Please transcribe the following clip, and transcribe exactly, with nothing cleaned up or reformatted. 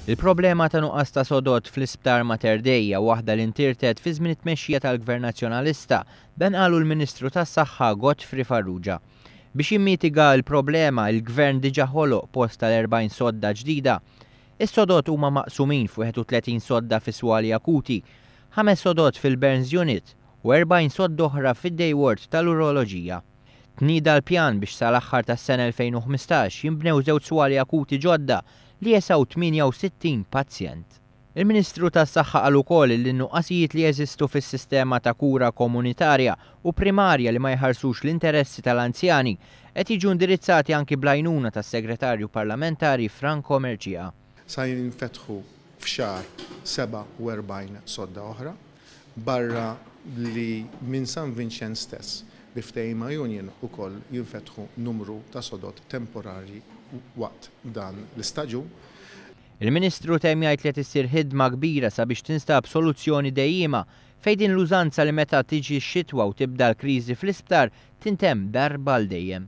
Il-problema ta' nuqqas ta' sodod fl-Isptar Mater Dei hija waħda li ntirtet fi żmien it-tmexxija tal-Gvern Nazzjonalista, dan qalu l-Ministru tas-Saħħa Godfrey Farrugia. Biex jimmitiga l-problema, il-Gvern diġà ħoloq post tal-erbgħin sodda ġdida. Is-sodod huma maqsumin f'wieħed u tletin sodda fi swali akuti, ħames sodod fil-Burns Unit u erbgħin sodda oħra fid-Day Ward tal-Uroloġija. Tnieda l-pjan biex sal-aħħar tas-sena elfejn u ħmistax jinbnew żewġ swali akuti ġodda li jesaw tmienja u sittin pazjent. Il-Ministru tas-Saħħa qal ukoll li n-nuqqasijiet li jeżistu fis-sistema ta' kura komunitarja u primarja li ma jħarsux l-interessi tal-anzjani qed jiġu indirizzati anki bl-għajnuna tas-Segretarju Parlamentari Franco Mercieca. Sa jinfetħu f'xahar sebgħa u erbgħin sodda oħra, barra li minn San Vincenz stess bi ftehim ma' Union ukoll jinfetħu numru ta' sodod temporarji waqt dan l-istaġun. Il-Ministru temm jgħid li qed issir ħidma kbira sabiex tinstab soluzzjoni dejjima fejn din l-użanza li meta tiġi x-xitwa u tibda l-kriżi fl-isptar tintemm darba għal dejjem.